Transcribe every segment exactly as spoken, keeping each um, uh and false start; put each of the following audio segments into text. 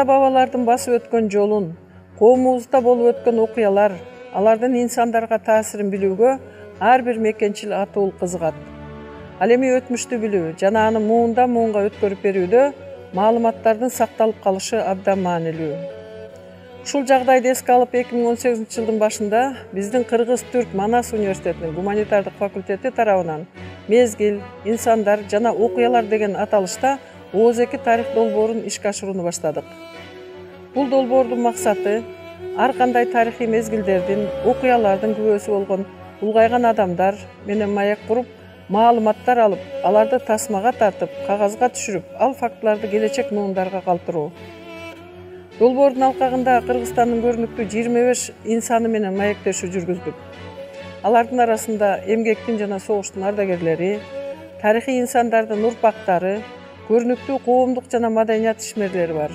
ата-бабалардын басып өткөн жолун, коомубузда болуп өткөн окуялар, алардын инсандарга таасирин билүүгө ар бир мекенчил атуул кызыгат. Ал эми өтмүштү билүү жана аны муундан муунга өткөрүп берүүдө маалыматтардын сакталып калышы абдан маанилүү. Ушул жагдайды эске алып эки миң он сегизинчи жылдын башында биздин Кыргыз-Түрк Манас университетинин гуманитардык факультети тарабынан мезгил, инсандар жана окуялар деген аталышта Ооз эки тарых долбоорун ишке ашырууну баштадык. Бул долбоордун максаты ар кандай тарыхый мезгилдердин, окуялардын күбөсү болгон улгайган адамдар менен маек куруп, маалыматтар алып, аларды тасмага тартып, кагазга түшүрүп, ал фактыларды келечек муундарга калтыруу. Долбоордун алкагында Кыргызстандын көрүнүктүү жыйырма беш инсаны менен маектешүү жүргүздүк. Алардын арасында эмгектин жана согуштун ардагерлери, тарыхый инсандардын урпактары, көрүнүктүү коомдук жана маданият ишмерлери бар.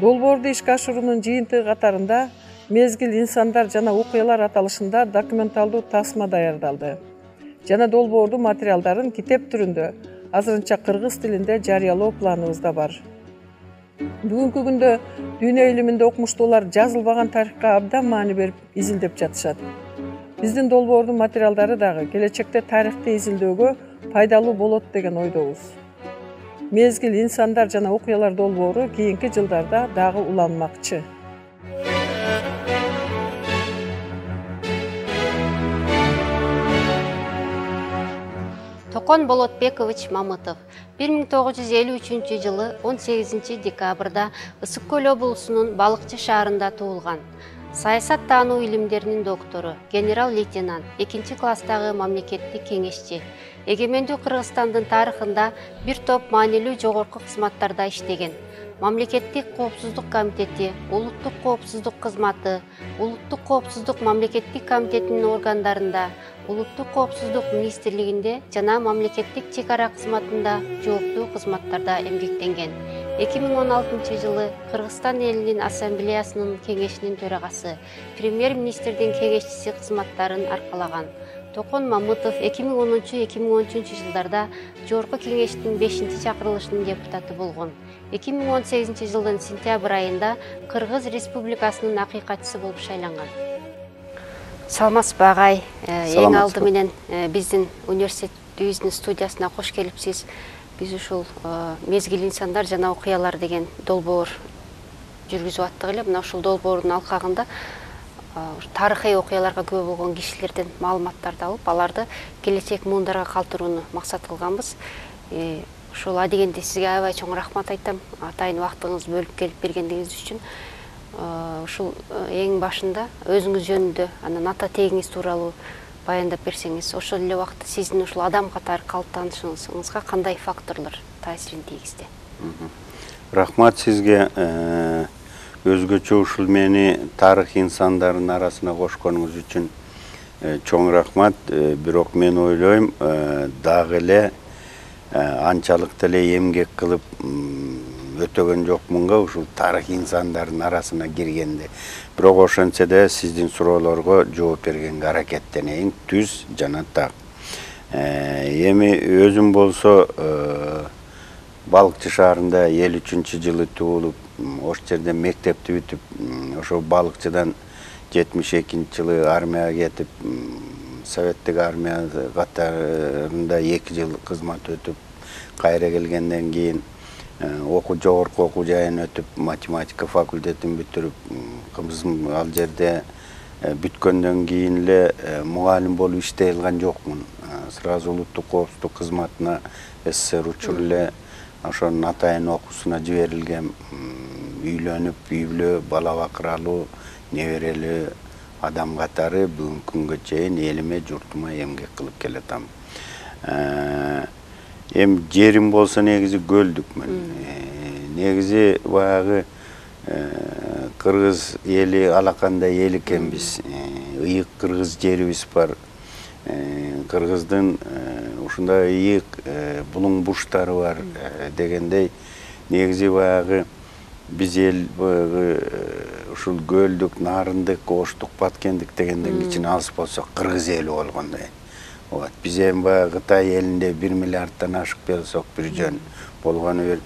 Долбоорду ишке ашыруунун жыйынтыгы катарында мезгил, инсандар жана окуялар аталышында документалдуу тасма даярдалды жана долбоордун материалдарын китеп түрүндө азырынча кыргыз тилинде жарыялоо планыбызда бар. Бүгүнкү күндө дүйнө илиминде окумуштуулар жазылбаган тарыхка абдан маани берип изилдеп жатышат. Биздин долбоордун материалдары дагы келечекте тарыхты изилдөөгө пайдалуу болот деген ойдобуз. Мезгил, инсандар жана окуялар долбоору кийинки жылдарда дагы уланмакчы. Токон Болотбекович Мамытов бир миң тогуз жүз элүү үчүнчү жылы он сегизинчи декабрда Ысык Көл облусунун Балыкчы шаарында туулган. Саясат таануу илимдеринин доктору, генерал-лейтенант, экинчи класстагы мамлекеттик кеңешчи. Эгемендүү Кыргызстандын тарыхында бир топ маанилүү жогорку кызматтарда иштеген. Мамлекеттик коопсуздук комитети, улуттук коопсуздук кызматы, улуттук коопсуздук мамлекеттик комитетинин органдарында, улуттук коопсуздук министрлигинде жана мамлекеттик чек ара кызматында жооптуу кызматтарда эмгектенген. эки миң он алтынчы жылы Кыргызстан элинин ассамблеясынын кеңешинин төрагасы, премьер-министрдин кеңешчиси кызматтарын аркалаган. Токон Мамытов эки миң онунчу — эки миң он үчүнчү жылдарда Жогорку кеңештин бешинчи чакырылышынын депутаты болгон. эки миң он сегизинчи жылдын сентябрь айында Кыргыз Республикасынын акыйкатчысы болуп шайланган. Саламатсызбы агай? Эң алды менен биздин университетибиздин студиясына кош келипсиз. Биз ушул мезгил, инсандар жана окуялар деген долбоор жүргүзүп аттык эле. Мына ушул долбоордун алкагында тарыхый окуяларга күбө болгон кишилерден маалыматтарды алып, аларды келечек муундарга калтырууну максат кылганбыз. Ушул адегенде сизге аябай чоң рахмат айтам, атайын убактыңызды бөлүп келип бергендигиңиз үчүн. Ушул эң башында өзүңүз жөнүндө, анан ата тегиңиз тууралуу баяндап берсеңиз, ошол эле убакта сиздин ушул адам катары калыптанышыңызга кандай факторлор таасирин тийгизди? Рахмат сизге. Өзгөчө ушул мени тарых инсандардын арасына кошконуңуз үчүн чоң рахмат. Бирок мен ойлойм, дагы эле анчалык деле эмгек кылып өтөгөн жокмунга ушул тарых инсандардын арасына киргенде. Бирок ошентсе да сиздин суроолорго жооп бергенге аракеттенейин, түз жана так. Эми өзүм болсо Балыкчы шаарында элүү үчүнчү жылы туулуп, ош жерде мектепти бүтүп, ошо Балыкчыдан жетимиш экинчи жылы армияга кетип, советтик армия катарында эки жыл кызмат өтүп, кайра келгенден кийин окуу жогорку окуу жайын өтүп, математика факультетин бүтүрүп, кызым ал жерде бүткөндөн кийин эле мугалим болуп иштей алган жокмун. Сразу улуттук коопсуздук кызматына СССР учур эле ошонун атайын окуусуна жиберилгем. Үйлөнүп, үй бүлө, бала бакыралуу, неберелүү адам катары бүгүнкү күнгө чейин элиме, журтума эмгек кылып келатам. Эми жерим болсо негизи көлдүкмүн. Негизи баягы кыргыз эли алакандай эл экенбиз. Ыйык кыргыз жерибиз бар. Кыргыздын ушундай ыйык булуң буштары бар дегендей, негизи баягы биз эл ушул көлдүк, нарындык, оштук, баткендик дегенден кичине алыс болсок кыргыз эли болгондой. Биз эми баягы Кытай элинде бир миллиардтан ашык болсок бир жөн болгону бир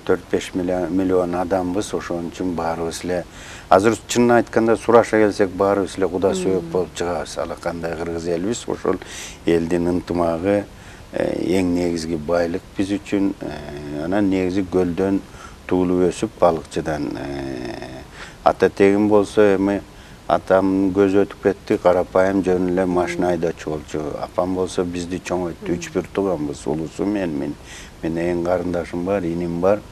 төрт беш миллион адамбыз, ошон үчүн баарыбыз эле азыр чынын айтканда сураша келсек баарыбыз эле куда сөөк болуп чыгабыз. Ала кандай кыргыз элбиз, ошол элдин ынтымагы эң негизги байлык биз үчүн. Анан негизи көлдөн туулуп өсүп балыкчыдан. Ата тегим болсо эми атамдын көзү өтүп кетти, карапайым жөн эле машина айдоочу болчу. Апам болсо бизди чоңойту, үч бир тууганбыз, улусу мен, мен менин эң карындашым бар, иним бар.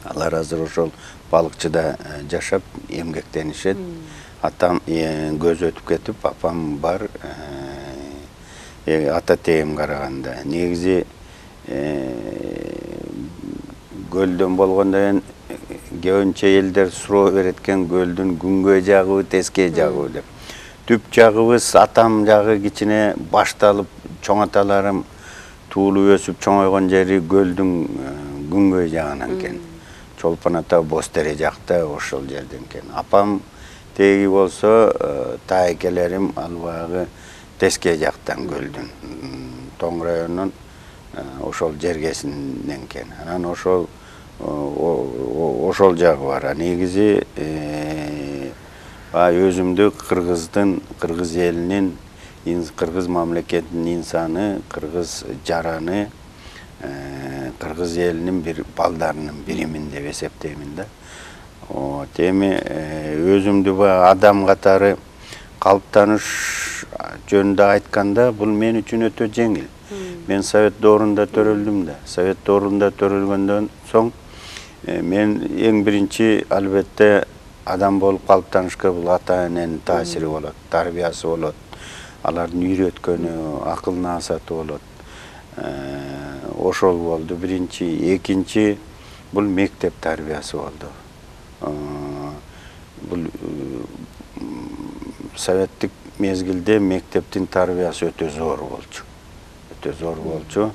Алар азыр ошол балыкчыда жашап эмгектенишет. Атам көзү өтүп кетип, апам бар. Ата тегим караганда негизи көлдөн болгондон көбүнчө элдер суроо берет экен, көлдүн күнгөй жагыбы, тескей жагыбы деп. Түп жагыбыз атам жагы кичине башталып, чоң аталарым туулуп өсүп чоңойгон жери көлдүн күнгөй жагынан экен. Чолпон ата Боз Тере жакта ошол жерден экен. Апам теги болсо таекелерим албагы тескей жактан көлдүн, Тоң районунун ошол жергесинен экен. Анан ошол ошол жагы бар. Негизи өзүмдү кыргыздын, кыргыз элинин, кыргыз мамлекетинин инсаны, кыргыз жараны, кыргыз элинин бир балдарынын биримин деп эсептеймин да. Эми өзүмдү адам катары калыптаныш жөнүндө айтканда, бул мен үчүн өтө жеңил. Мен Совет доорунда төрөлдүм да. Совет доорунда төрөлгөндөн соң мен эң биринчи албетте адам болуп калыптанышка бул ата эненин таасири болот, тарбиясы болот, алардын үйрөткөнү, акыл наасаты болот. Ошол болду биринчи. Экинчи бул мектеп тарбиясы болду. Бул советтик мезгилде мектептин тарбиясы өтө зор болчу. Өтө зор болчу.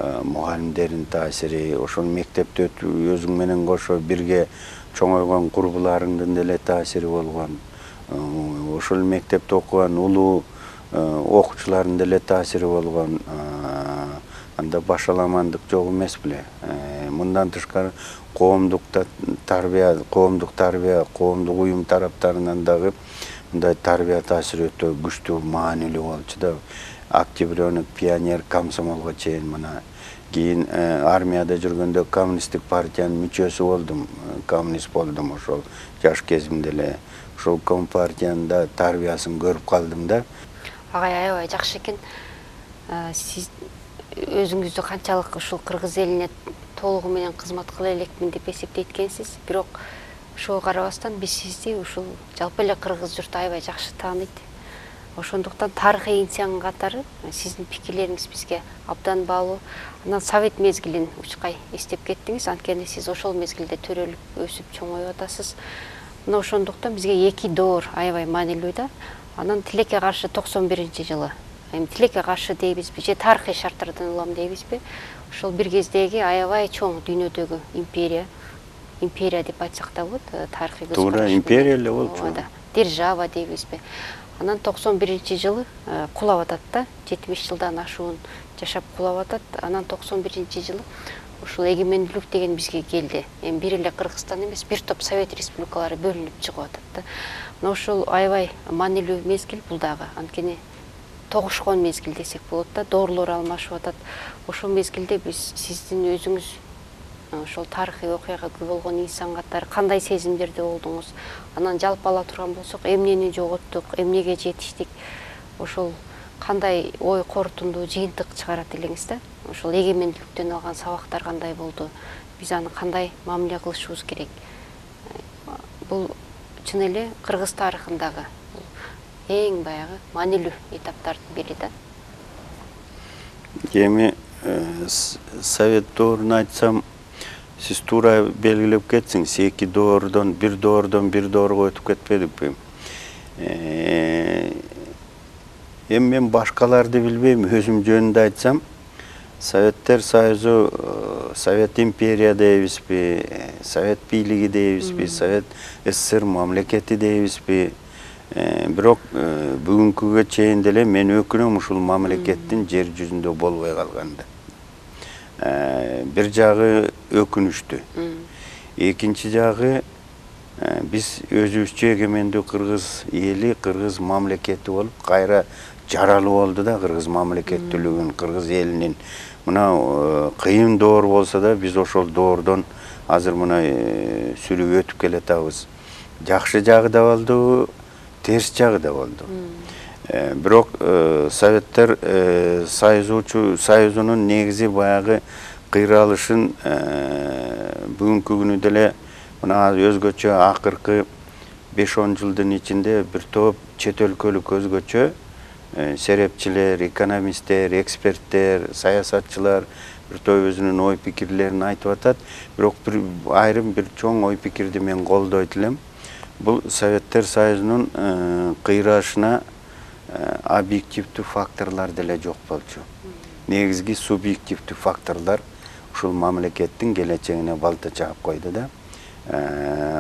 Мугалимдердин таасири, ошол мектепте өзүң менен кошо бирге чоңойгон курбуларыңдын деле таасири болгон. Ошол мектепте окуган улуу окуучулардын деле таасири болгон. Анда башаламандык жок эмес беле. Мындан тышкары коомдук тарбия, коомдук тарбия, коомдук уюм тараптарынан дагы мындай тарбия таасири өтө күчтүү, маанилүү болчу да. Октябрёнок, пионер, комсомолго чейин мына. Кийин армияда жүргөндө коммунисттик партиянын мүчөсү болдум, коммунист болдум ошол жаш кезимде эле. Ошол компартиянын да тарбиясын көрүп калдым да. Агай аябай жакшы экен. Сиз өзүңүздү канчалык ушул кыргыз элине толугу менен кызмат кыла элекмин деп эсептейт экенсиз. Бирок ошого карабастан биз сизди ушул жалпы эле кыргыз журту аябай жакшы тааныйт. Ошондуктан тарыхый инсан катары сиздин пикирлериңиз бизге абдан баалуу. Анан Совет мезгилин учкай эстеп кеттиңиз, анткени сиз ошол мезгилде төрөлүп өсүп чоңоюп атасыз. Мына ошондуктан бизге эки доор аябай маанилүү да. Анан тилекке каршы токсон биринчи жылы. Эми тилекке каршы дейбизби, же тарыхый шарттардан улам дейбизби? Ошол бир кездеги аябай чоң дүйнөдөгү империя, империя деп айтсак да болот, тарыхый көз караш. Туура, империя эле болчу. Держава дейбизби? Анан токсон биринчи жылы кулап атат да, жетимиш жылдан ашуун жашап кулап атат. Анан токсон биринчи жылы ушул эгемендүүлүк деген бизге келди. Эми бир эле Кыргызстан эмес, бир топ Совет республикалары бөлүнүп чыгып атат да. Мына ушул аябай маанилүү мезгил бул дагы. Анткени тогушкон мезгил десек болот да, доорлор алмашып атат. Ошол мезгилде биз сиздин өзүңүз ошол тарыхый окуяга күбө болгон инсан катары кандай сезимдерде болдуңуз? Анан жалпы ала турган болсок, эмнени жоготтук, эмнеге жетиштик? Ошол кандай ой корутундуу жыйынтык чыгарат элеңиз да? Ошол эгемендүүлүктөн алган сабактар кандай болду? Биз аны кандай мамиле кылышыбыз керек? Бул чын эле кыргыз тарыхындагы эң баягы маанилүү этаптардын бири да. Эми Совет доорун айтсам, сиз туура белгилеп кетсиңиз, эки доордон, бир доордон бир доорго өтүп кетпедикпи? Эми мен башкаларды билбейм, өзүм жөнүндө айтсам, Советтер Союзу, Совет империя дейбизби, Совет бийлиги дейбизби, Совет СССР мамлекети дейбизби? Бирок бүгүнкүгө чейин деле мен өкүнөм ушул мамлекеттин жер жүзүндө болбой калганда. Бир жагы өкүнүштүү. Экинчи жагы биз өзүбүзчө эгемендүү кыргыз эли, кыргыз мамлекети болуп, кайра жаралуу болду да кыргыз мамлекеттүүлүгүн, кыргыз элинин. Мына кыйын доор болсо да биз ошол доордон азыр мына сүрүп өтүп келатабыз. Жакшы жагы да болду, терс жагы да болду. Бирок Советтер Союзунун негизи баягы кыйралышын бүгүнкү күнү деле мына өзгөчө акыркы беш он жылдын ичинде бир топ чет өлкөлүк өзгөчө серепчилер, экономисттер, эксперттер, саясатчылар бир топ өзүнүн ой пикирлерин айтып атат. Бирок бир айрым бир чоң ой пикирди мен колдойт элем. Бул Советтер Союзунун кыйрашына объективдүү факторлор деле жок болчу. Негизги субъективдүү факторлор ушул мамлекеттин келечегине балта чаап койду да.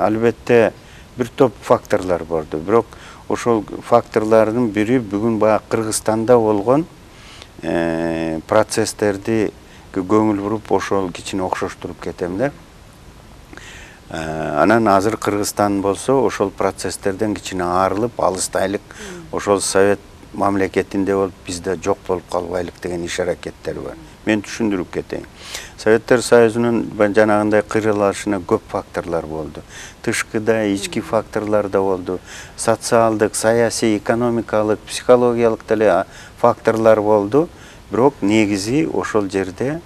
Албетте бир топ факторлор болду. Бирок ошол факторлордун бири бүгүн баягы Кыргызстанда болгон процесстерди көңүл буруп ошол кичине окшоштуруп кетем да. Анан азыр Кыргызстан болсо ошол процесстерден кичине арылып, алыстайлык, ошол Совет мамлекетинде болуп бизде жок болуп калбайлык деген иш аракеттер бар. Мен түшүндүрүп кетейин. Советтер Союзунун жанагындай кыйралышына көп факторлор болду. Тышкыда, ички факторлор да болду. Социалдык, саясий, экономикалык, психологиялык деле факторлор болду. Бирок негизи ошол жерде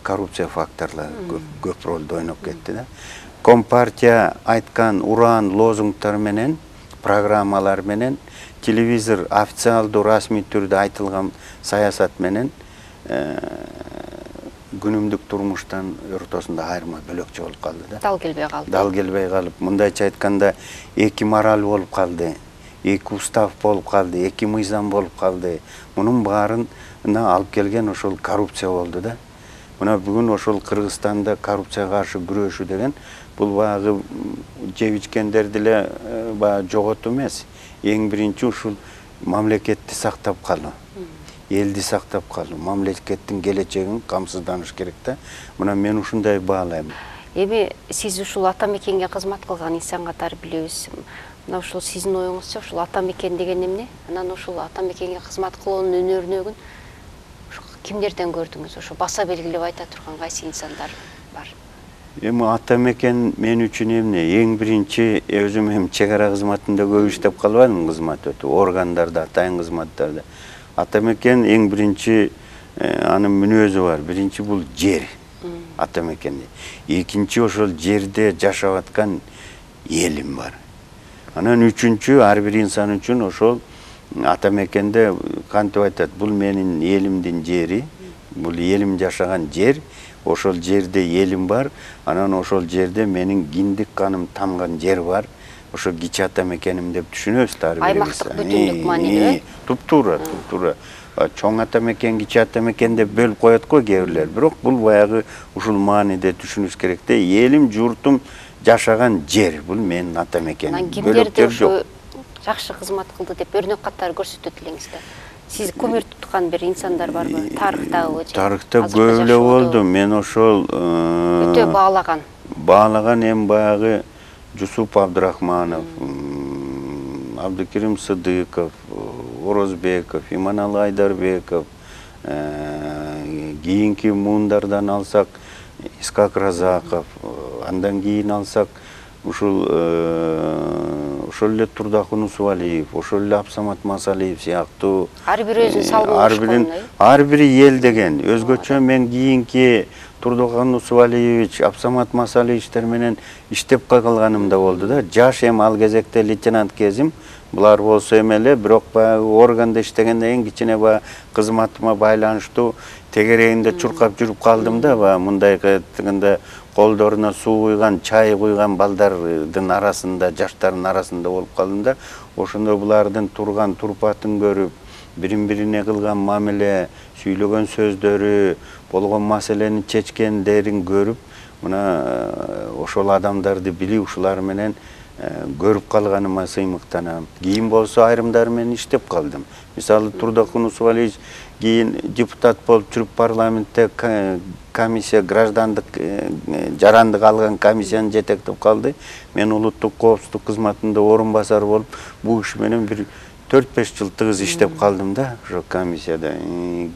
коррупция факторлору көп ролду ойноп кетти да. Компартия айткан уран лозунгтар менен, программалар менен, телевизор официалдуу расмий түрдө айтылган саясат менен күнүмдүк турмуштан ортосунда айырма бөлөкчө болуп калды да. Дал келбей калды. Дал келбей калып, мындайча айтканда эки мораль болуп калды, эки устав болуп калды, эки мыйзам болуп калды. Мунун баарына алып келген ошол коррупция болду да. Мына бүгүн ошол Кыргызстанда коррупцияга каршы күрөшүү деген бул баягы жеп ичкендер деле баягы жоготуу эмес. Эң биринчи ушул мамлекетти сактап калуу, элди сактап калуу, мамлекеттин келечегин камсызданыш керек да. Мына мен ушундай баалайм. Эми сиз ушул ата мекенге кызмат кылган инсан катары билебиз. Мына ушул сиздин оюңузча ушул ата мекен деген эмне? Анан ушул ата мекенге кызмат кылуунун өнөрүнөгүн кимдерден көрдүңүз? Ошо баса белгилеп айта турган кайсы инсандар бар? Эми ата мекен мен үчүн эмне? Эң биринчи өзүм эми чек ара кызматында көп иштеп калбадым, кызмат өтүп, органдарда, атайын кызматтарда. Ата мекен эң биринчи анын мүнөзү бар. Биринчи бул жер. Ата мекенде. Экинчи ошол жерде жашап аткан элим бар. Анан үчүнчү ар бир инсан үчүн ошол ата мекенде кантип айтат, бул менин элимдин жери, бул элим жашаган жер, ошол жерде элим бар, анан ошол жерде менин киндик каным тамган жер бар. Ошо кичи ата мекеним деп түшүнөбүз да ар бирибиз. Аймактык бүтүндүк маанилүү. Туптуура, туптуура. Чоң ата мекен, кичи ата мекен деп бөлүп коет го кээ бирлер. Бирок бул баягы ушул мааниде түшүнүш керек да. Элим, журтум жашаган жер, бул менин ата мекеним. Кимдерди ошо жакшы кызмат кылды деп өрнөк катары көрсөтөт элеңиз да. Сиз көмөр туткан бир инсандар барбы? Тарыхтагы же? Тарыхта көп эле болду. Мен ошол өтө баалаган. Баалаган эми баягы Жусуп Абдрахманов, Абдыкерим Сыдыков, Орозбеков, Иманалы Айдарбеков, кийинки муундардан алсак Искак Разаков, андан кийин алсак ушул ошол эле Турдакун Усубалиев, ошол эле Абсамат Масалиев сыяктуу ар бир өзүнүн салымын ар бир эл деген өзгөчө мен кийинки Турдакун Усубалиевич, Абсамат Масалиевичтер менен иштеп калганым да болду да. Жаш эми ал кезекте лейтенант кезим, булар болсо эмеле, бирок баягы органда иштегенде эң кичине баягы кызматыма байланыштуу тегерегинде чуркап жүрүп калдым да, баягы мындай кыйтканда колдоруна суу куйган, чай куйган балдардын арасында, жаштардын арасында болуп калдым да. Ошондо булардын турган турпатын көрүп, бирин-бирине кылган мамиле, сүйлөгөн сөздөрү, болгон маселени чечкендерин көрүп, мына ошол адамдарды билип, ушулар менен көрүп калганыма сыймыктанам. Кийин болсо айрымдары менен иштеп калдым. Мисалы Турдакун Усубалиевич кийин депутат болуп жүрүп парламентте комиссия граждандык жарандык алган комиссияны жетектеп калды. Мен улуттук коопсуздук кызматында орун басар болуп, бул киши менен бир төрт беш жыл тыгыз иштеп калдым да, ошо комиссияда.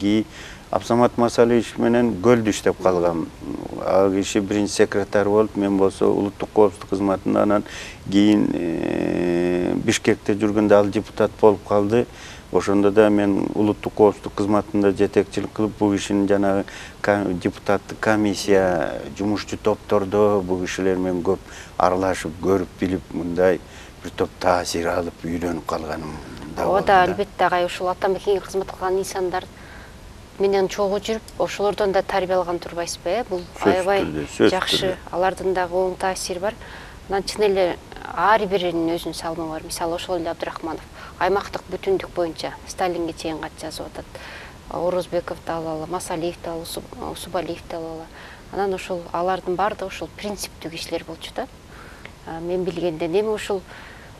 Кийин Абсамат Масалиевич менен Көлдү иштеп калгам. Ал киши биринчи секретарь болуп, мен болсо улуттук коопсуздук кызматында, анан кийин Бишкекте жүргөндө ал депутат болуп калды. Ошондо да мен улуттук коопсуздук кызматында жетекчилик кылып, бул кишинин жанагы депутаттык комиссия, жумушчу топтордо бул кишилер менен көп аралашып, көрүп билип, мындай бир топ таасир алып, үйрөнүп калганым да болду. Ода албетте агай ушул атамекенге кызмат кылган инсандар менен чогуу жүрүп, ошолордон да тарбия алган турбайсызбы, э? Бул аябай жакшы, алардын дагы оң таасири бар. Анан чын эле ар биринин өзүнүн салымы бар. Мисалы ошол эле Абдрахманов аймактык бүтүндүк боюнча Сталинге чейин кат жазып атат. Орозбековду алалы, Масалиевди алалы, Усубалиевди алалы. Анан ошол алардын баардыгы ошол принциптүү кишилер болчу да. Мен билгенде эми ушул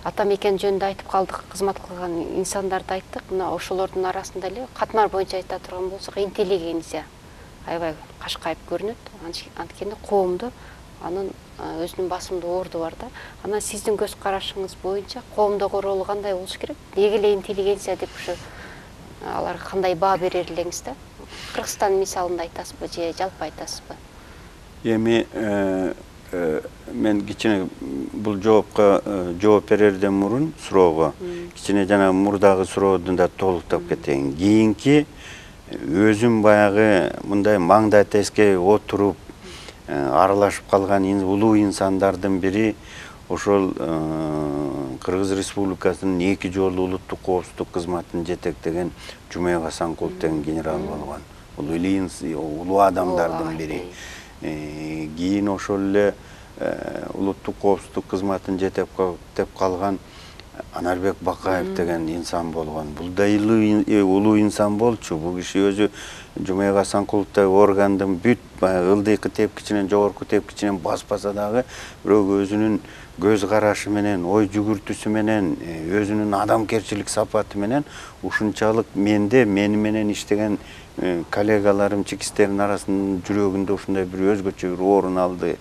атамекен жөнүндө айтып калдык, кызмат кылган инсандарды айттык. Мына ошолордун арасында эле катмар боюнча айта турган болсок, интеллигенция аябай кашкайып көрүнөт. Анткени коомдо анын өзүнүн басымдуу орду бар да. Анан сиздин көз карашыңыз боюнча коомдогу ролу кандай болуш керек? Деги эле интеллигенция деп ушу аларга кандай баа берер элеңиз да? Кыргызстан мисалында айтасызбы же жалпы айтасызбы? Эми мен кичине бул жоопко жооп берерден мурун суроого кичине жана мурдагы суроодун да толуктап кетейин. Кийинки өзүм баягы мындай маңдай теске отуруп аралашып калган улуу инсандардын бири ошол Кыргыз Республикасынын эки жолу улуттук коопсуздук кызматын жетектеген Жумек Асанкулов деген генерал болгон. Бул улуу адамдардын бири. Кийин ошол эле улуттук коопсуздук кызматын жетектеп калган Анарбек Бакаев деген инсан болгон. Бул да улуу инсан болчу. Бул киши өзү Жумек Асанкуловдой органдын бүт ылдыйкы тепкичинен, жогорку тепкичинен баспаса дагы, бирок өзүнүн көз карашы менен, ой жүгүртүүсү менен, өзүнүн адамгерчилик сапаты менен ушунчалык менде, мени менен иштеген коллегаларым, чекистердин арасынын жүрөгүндө ушундай бир өзгөчө бир орун алды.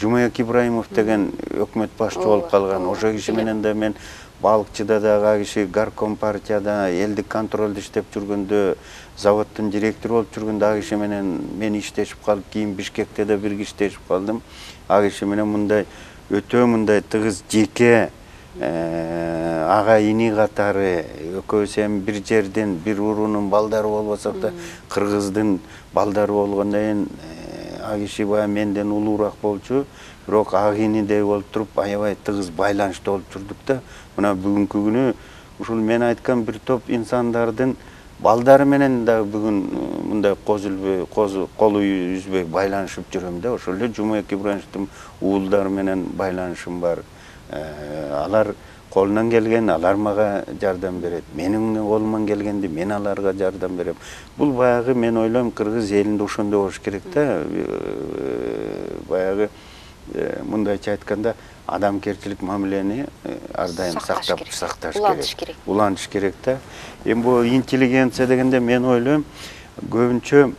Жумек Ибраимов деген өкмөт башчы болуп калган. Ошо киши менен да мен балыкчыда дагы киши горком партияда элдик контролдо иштеп жүргөндө, заводдун директору болуп жүргөндө а киши менен мен иштешип калып, кийин Бишкекте да бирге иштешип калдым. А киши менен мындай өтө мындай тыгыз жеке ага ини катары, экөөбүз эми бир жерден, бир уруунун балдары болбосок да, кыргыздын балдары болгондон кийин а киши баягы менден улуураак болчу, бирок ак инидей болуп туруп аябай тыгыз байланышта болуп жүрдүк да. Мына бүгүнкү күнү ушул мен айткан бир топ инсандардын балдары менен да бүгүн мындай коз үлбөй, колу үзбөй байланышып жүрөм да. Ошол эле Жумек Ибраимовдун уулдары менен байланышым бар. Алар колунан келген, алар мага жардам берет. Менин колуман келгенди мен аларга жардам берем. Бул баягы мен ойлойм кыргыз элинде ошондой болуш керек да. Баягы мындайча айтканда адамгерчилик мамилени ар дайым сактап сакташ керек. Улантыш керек да. Эми бул интеллигенция дегенде мен ойлойм көбүнчө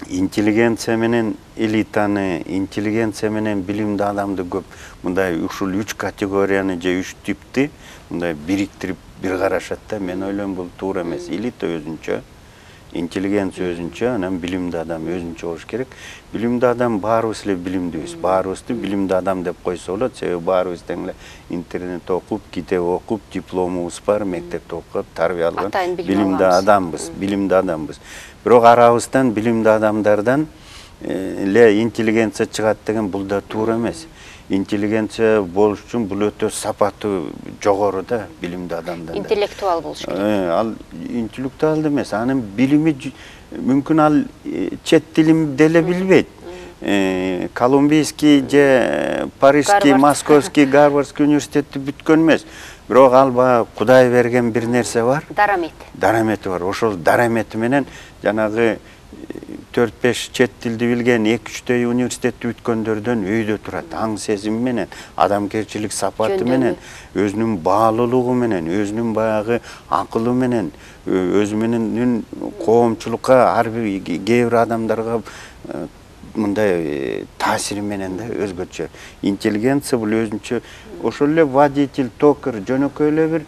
интеллигенция менен элитаны, интеллигенция менен билимдүү адамды көп мындай ушул үч категорияны же үч типти мындай бириктирип бир карашат да. Мен ойлойм бул туура эмес. Элита өзүнчө, интеллигенция өзүнчө, анан билимдүү адам өзүнчө болуш керек. Билимдүү адам баарыбыз эле билимдүүбүз. Баарыбызды билимдүү адам деп койсо болот. Себеби баарыбыз тең эле интернет окуп, китеп окуп, дипломубуз бар, мектепте окуп, тарбия алган билимдүү адамбыз, билимдүү адамбыз. Бирок арабыздан билимдүү адамдардан эле интеллигенция чыгат деген бул да туура эмес. Интеллигенция болуш үчүн бул өтө сапаты жогору да, билимдүү адамдар. Интеллектуал болуш керек. Ал интеллектуал эмес, анын билими мүмкүн ал чет тилин деле билбейт. Колумбийский же Парижский, Московский, Гарвардский университетти бүткөн эмес. Бирок ал баягы Кудай берген бир нерсе бар. Дарамет. Дарамети бар. Ошол дарамети менен жанагы төрт беш чет тилди билген, эки үчтөй университетти бүткөндөрдөн өйдө турат. Аң сезими менен, адамгерчилик сапаты менен, өзүнүн баалуулугу менен, өзүнүн баягы акылы менен, өзү менен коомчулукка, ар бир кээ бир адамдарга мындай таасири менен да өзгөчө. Интеллигенция бул өзүнчө ошол эле водитель, токар, жөнөкөй эле бир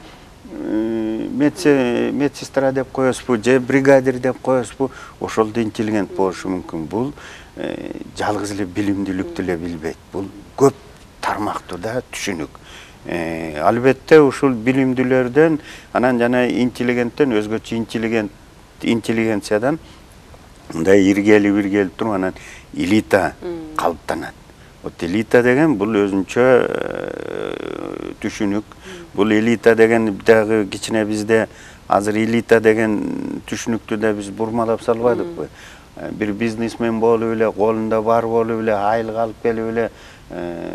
медсестра деп коесузбу, же бригадир деп коесузбу, ошол да интеллигент болушу мүмкүн. Бул жалгыз эле билимдүүлүктү эле билбейт. Бул көп тармактуу да түшүнүк. Албетте ушул билимдүүлөрдөн, анан жана интеллигенттен өзгөчө интеллигент интеллигенциядан мындай иргели биргели туруп анан элита калыптанат. Вот элита деген бул өзүнчө түшүнүк. Бул элита деген дагы кичине бизде азыр элита деген түшүнүктү да биз бурмалап салбадыкпы. Бир бизнесмен болуп эле, колунда бар болуп эле, айлык алып келип эле,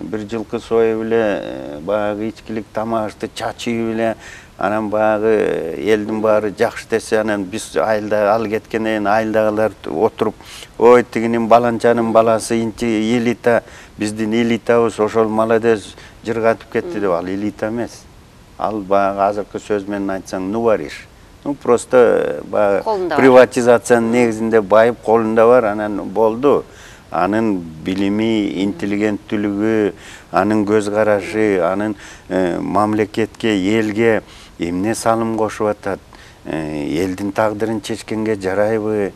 бир жылкы союп эле, баягы ичкилик тамашты чачып эле, анан баягы элдин баары жакшы десе, анан биз айылда ал кеткенден айылдагылар отуруп, ой тигинин баланчанын баласы элита, биздин элитабыз ошол молодец жыргатып кетти деп, ал элита эмес. Ал баягы азыркы сөз менен айтсаң нувориш. Ну просто баягы приватизациянын негизинде байып колунда бар, анан болду. Анын билими, интеллигенттүүлүгү, анын көз карашы, анын мамлекетке, элге эмне салым кошуп атат, элдин тагдырын чечкенге жарайбы,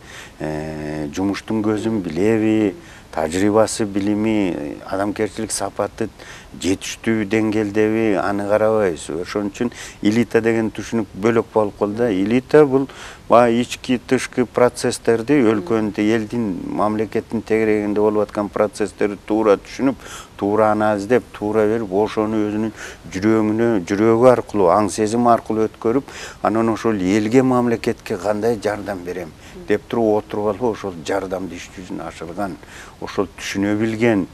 жумуштун көзүн билеби, тажрыйбасы, билими, адамгерчилик сапаты жетиштүү деңгээлдеби, аны карабайбыз. Ошон үчүн элита деген түшүнүк бөлөк болуп калды. Элита бул баягы ички тышкы процесстерди, өлкөнүн, элдин, мамлекеттин тегерегинде болуп аткан процесстерди туура түшүнүп, туура анализдеп, туура берип, ошону өзүнүн жүрөгүнө, жүрөгү аркылуу, аң сезим аркылуу өткөрүп, анан ошол элге, мамлекетке кандай жардам берем деп туруп отуруп алып, ошол жардамды иш жүзүнө ашырган, ошол түшүнө билген,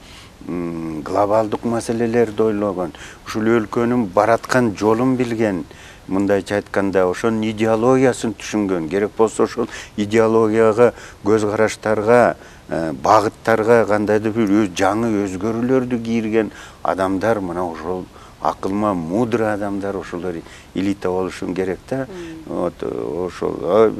глобалдык маселелерди ойлогон, ушул өлкөнүн бараткан жолун билген, мындайча айтканда ошонун идеологиясын түшүнгөн, керек болсо ошол идеологияга, көз караштарга, багыттарга кандайдыр бир жаңы өзгөрүүлөрдү кийирген адамдар, мына ошол акылма мудрый адамдар, ошолор элита болушу керек да. Вот ошол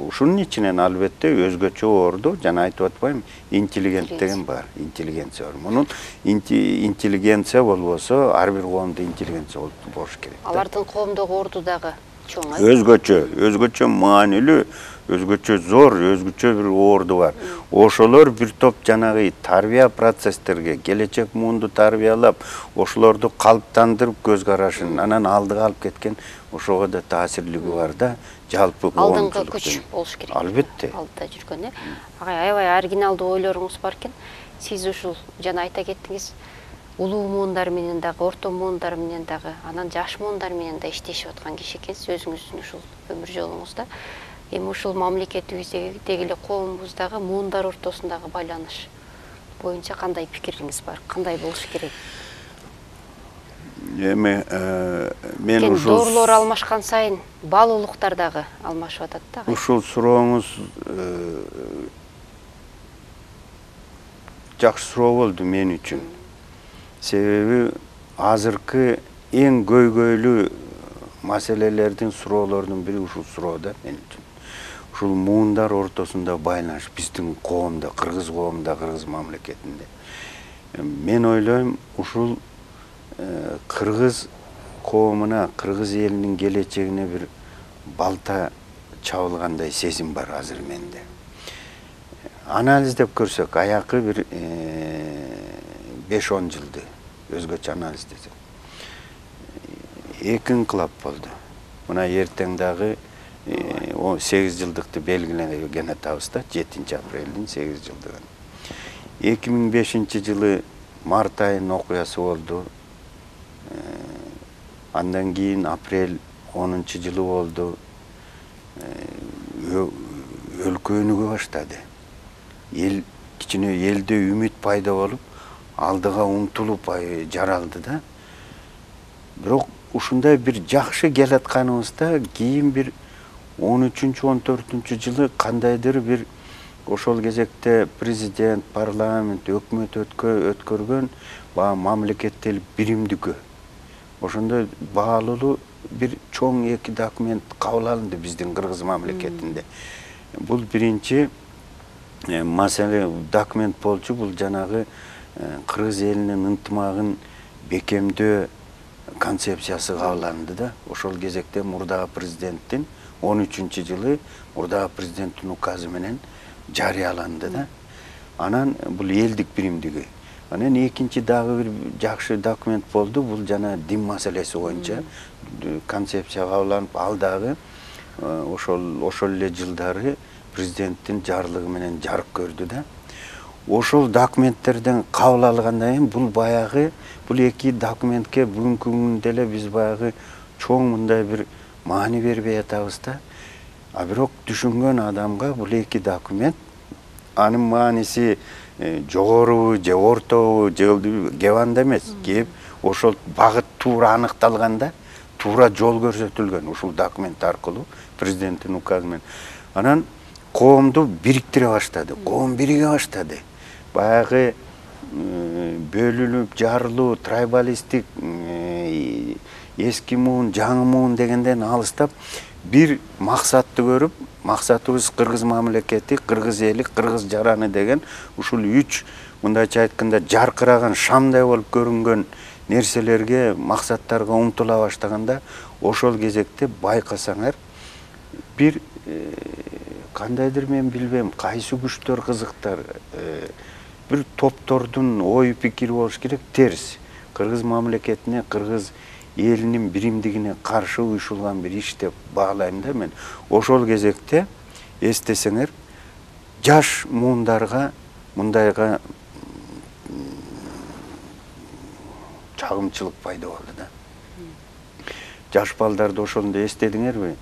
ушунун ичинен албетте өзгөчө орду, жана айтып атпайм, интеллигент деген бар, интеллигенция бар. Мунун интеллигенция болбосо, ар бир коомдо интеллигенция болуш керек. Алардын коомдогу орду дагы чоң. Өзгөчө, өзгөчө маанилүү, өзгөчө зор, өзгөчө бир орду бар. Ошолор бир топ жанагы тарбия процесстерге, келечек муунду тарбиялап, ошолорду калыптандырып көз карашын, анан алдыга алып кеткен, ошого да таасирлиги бар да, жалпы коомчулуктун. Алдыңкы күч болуш керек. Албетте. Алдыда жүргөн, э? Агай, аябай оригиналдуу ойлоруңуз бар экен. Сиз ушул жана айта кеттиңиз, улуу муундар менен дагы, орто муундар менен дагы, анан жаш муундар менен да иштешип аткан киши экенсиз өзүңүздүн ушул өмүр жолуңузда. Эми ушул мамлекетибиздеги эле коомубуздагы муундар ортосундагы байланыш боюнча кандай пикириңиз бар? Кандай болуш керек? Эми мен ушул доорлор алмашкан сайын баалуулуктар дагы алмашып атат да. Ушул сурооңуз жакшы суроо болду мен үчүн. Себеби азыркы эң көйгөйлүү маселелердин, суроолордун бири ушул суроо да мен үчүн. Ушул муундар ортосунда байланыш биздин коомдо, кыргыз коомунда, кыргыз мамлекетинде. Мен ойлойм, ушул кыргыз коомуна, кыргыз элинин келечегине бир балта чабылгандай сезим бар азыр менде. Анализдеп көрсөк, аякы бир беш он жылды өзгөчө анализ десек. Эки инкылап болду. Мына эртең дагы сегиз жылдыкты белгилеген атабыз да, жетинчи апрелдин сегиз жылдыгын. эки миң бешинчи жылы март айынын окуясы болду. Андан кийин апрель онунчу жылы болду. Өлкө өнүгө баштады. Эл кичине элде үмүт пайда болуп, алдыга умтулуп жаралды да. Бирок ушундай бир жакшы келатканыбызда кийин бир он үчүнчү он төртүнчү жылы кандайдыр бир ошол кезекте президент, парламент, өкмөт өткөргөн баягы мамлекеттик биримдиги. Ошондой баалуу бир чоң эки документ кабыл алынды биздин кыргыз мамлекетинде. Бул биринчи маселе документ болчу, бул жанагы кыргыз элинин ынтымагын бекемдөө концепциясы кабыл алынды да. Ошол кезекте мурдагы президенттин он үчүнчү жылы мурдагы президенттин указы менен жарыяланды да. Анан бул элдик биримдиги. Анан экинчи дагы бир жакшы документ болду. Бул жана дин маселеси боюнча концепция кабыл алынып, ал дагы ошол ошол эле жылдары президенттин жарлыгы менен жарык көрдү да. Ошол документтерден кабыл алгандан кийин бул баягы бул эки документке бүгүнкү күндө эле биз баягы чоң мындай бир маани бербей атабыз да. А бирок түшүнгөн адамга бул эки документ анын мааниси жогорубу же ортобу же кебанда эмес, кеп ошол багыт туура аныкталганда туура жол көрсөтүлгөн ушул документ аркылуу президенттин указы менен. Анан коомду бириктире баштады, коом бириге баштады. Баягы бөлүнүп жарылуу, трайбалисттик, эски муун, жаңы муун дегенден алыстап бир максатты көрүп, максатыбыз кыргыз мамлекети, кыргыз эли, кыргыз жараны деген ушул үч мындайча айтканда жаркыраган шамдай болуп көрүнгөн нерселерге, максаттарга умтула баштаганда ошол кезекте байкасаңар бир кандайдыр мен билбейм, кайсы күчтөр кызыктар, бир топтордун ой пикири болуш керек, терс. Кыргыз мамлекетине, кыргыз элинин биримдигине каршы уюшулган бир иш деп баалайм да мен. Ошол кезекте эстесеңер, жаш муундарга мындайга чагымчылык пайда болду да. Жаш балдарды ошондо эстедиңерби?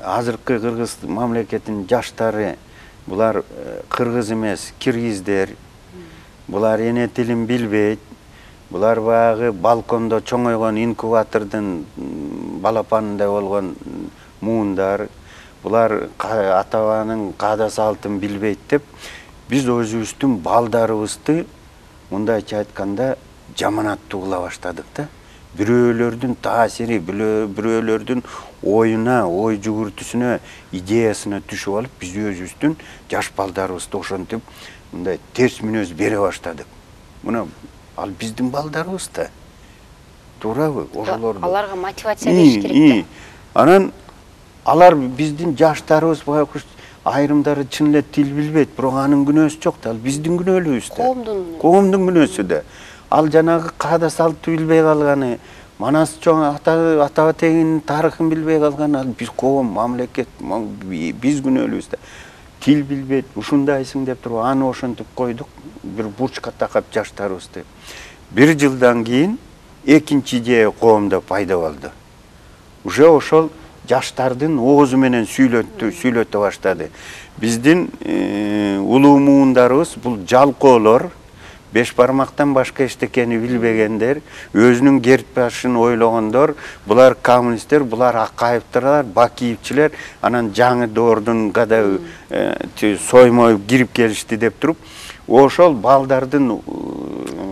Азыркы кыргыз мамлекетинин жаштары булар кыргыз эмес, киргиздер. Булар эне тилин билбейт. Булар баягы балкондо чоңойгон инкубатордун балапанындай болгон муундар. Булар ата-бабанын каада салтын билбейт деп биз өзүбүздүн балдарыбызды мындайча айтканда жаманаттуу кыла баштадык да. Бирөөлөрдүн таасири, бирөөлөрдүн оюна, ой жүгүртүсүнө, идеясына түшүп алып, биз өзүбүздүн жаш балдарыбызды ошентип мындай терс мүнөз бере баштадык. Мына ал биздин балдарыбыз да. Туурабы? Ошолорду. Аларга мотивация бериш керек да. Анан алар биздин жаштарыбыз баягы айрымдары чын эле тил билбейт, бирок анын күнөөсү жок да. Ал биздин күнөөлүгүбүз да. Коомдун Коомдун күнөөсү да. Ал жанагы каада салтты билбей калганы, манас чоң ата тегинин тарыхын билбей калганы, ал биз коом, мамлекет, биз күнөөлүбүз да. Тил билбейт, ушундайсың деп туруп аны ошентип койдук, бир бурчка такап жаштарыбызды. Бир жылдан кийин экинчи идея коомдо пайда болду. Уже ошол жаштардын оозу менен сүйлөттү, сүйлөтө баштады. Биздин улуу муундарыбыз бул жалкоолор, беш бармактан башка эчтекени билбегендер, өзүнүн кертбашын ойлогондор, булар коммунисттер, булар Акаевдер, Бакиевчилер, анан жаңы доордун кадай соймой кирип келишти деп туруп, ошол балдардын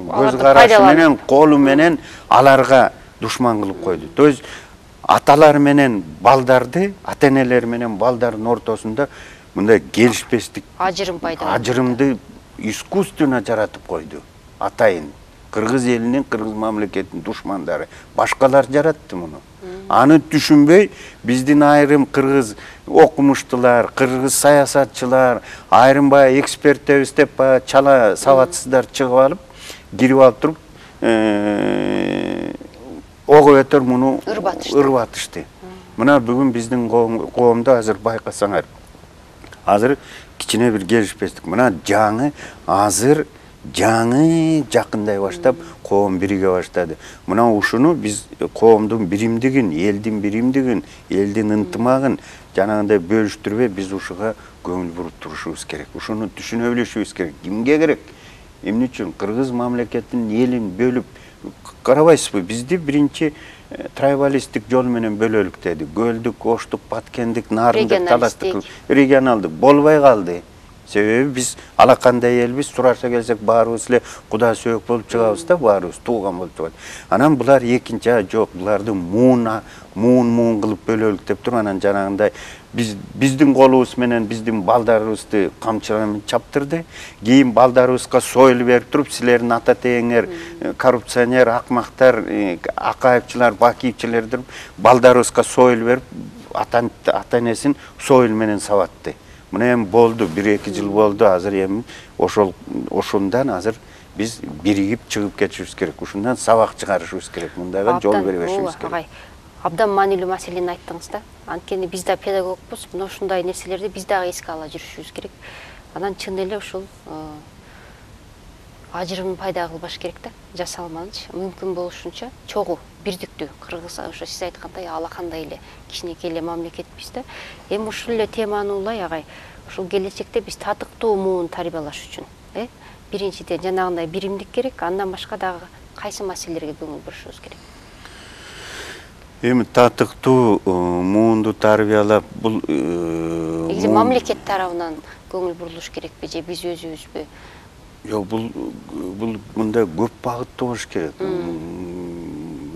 көз карашы менен, колу менен аларга душман кылып койду. То есть аталар менен балдарды, ата-энелер менен балдардын ортосунда мындай келишпестик, ажырым пайда болду. Ажырымды искусственно жаратып койду. Атайын кыргыз элинин, кыргыз мамлекетинин душмандары. Башкалар жаратты муну. Аны түшүнбөй, биздин айрым кыргыз окумуштулар, кыргыз саясатчылар, айрым бая эксперттерибиз деп бая чала сабатсыздар чыгып алып, кирип алып туруп, ого бетер муну ырбатышты. Мына бүгүн биздин коомдо азыр байкасаңар, азыр кичине бир келишпестик. Мына жаңы азыр жаңы жакындай баштап коом бириге баштады. Мына ушуну биз коомдун биримдигин, элдин биримдигин, элдин ынтымагын жанагындай бөлүштүрбөй биз ушуга көңүл буруп турушубуз керек. Ушуну түшүнө билишибиз керек. Кимге керек? Эмне үчүн кыргыз мамлекетинин элин бөлүп карабайсызбы? Бизди биринчи трайбалисттик жол менен бөлөлүк деди. Көлдүк, оштук, баткендик, нарындык, таластык, регионалдык болбой калды. Себеби биз алакандай элбиз, сураша келсек баарыбыз эле Куда сөөк болуп чыгабыз да, баарыбыз тууган болуп чыгат. Анан булар экинчи жок, буларды муун муун муун кылып бөлөлүк деп туруп, анан жанагындай биз биздин колубуз менен биздин балдарыбызды камчыламен чаптырды. Кийин балдарыбызга союл берип туруп, силердин ата тегиңер коррупционер, акмактар, Акаевчилар, Бакиевчилер деп балдарыбызга союл берип, ата-энесин союл менен сабатты. Мына эми болду, бир-эки жыл болду, азыр эми ошол ошондан азыр биз биригип чыгып кетишибиз керек. Ушундан сабак чыгарышыбыз керек. Мындайга жол бербешибиз керек. Абдан маанилүү маселени айттыңыз да. Анткени биз да педагогбуз, мына ушундай нерселерди биз дагы эске ала жүрүшүбүз керек. Анан чын эле ушул ажырымын пайда кылбаш керек да, жасалманчы, мүмкүн болушунча чогуу, бирдиктүү. Кыргыз ошо сиз айткандай алакандай эле кичинекей эле мамлекетпиз да. Эми ушул эле теманы улай агай, ушул келечекте биз татыктуу муун тарбиялаш үчүн, э? Биринчиден жанагындай биримдик керек, андан башка дагы кайсы маселелерге көңүл бурушубуз керек? Эми татыктуу муунду тарбиялап, бул мамлекет тарабынан көңүл бурулуш керекпи же биз өзүбүзбү? Жок, бул бул мындай көп багыттуу болуш керек.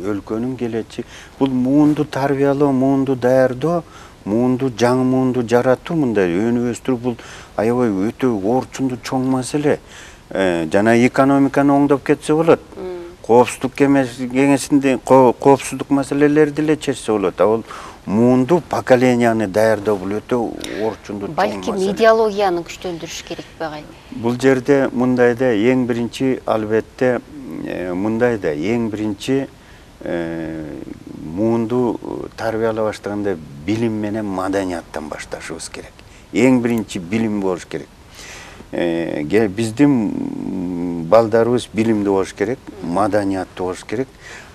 Өлкөнүн келечеги бул муунду тарбиялоо, муунду даярдоо, муунду жаңы муунду жаратуу, мындай өнү өстүрүү бул аябай өтө орчундуу чоң маселе. Жана экономиканы оңдоп кетсе болот. Коопсуздук кеңешинде коопсуздук маселелерди эле чечсе болот. А бул муунду поколенияны даярдоо бул өтө орчундуу чоң маселе. Балким идеологияны күчтөндүрүш керекпи агай? Бул жерде мындайда эң биринчи албетте мындайда эң биринчи муунду тарбиялай баштаганда билим менен маданияттан башташыбыз керек. Эң биринчи билим болуш керек. Биздин балдарыбыз билимдүү болуш керек, маданияттуу болуш керек.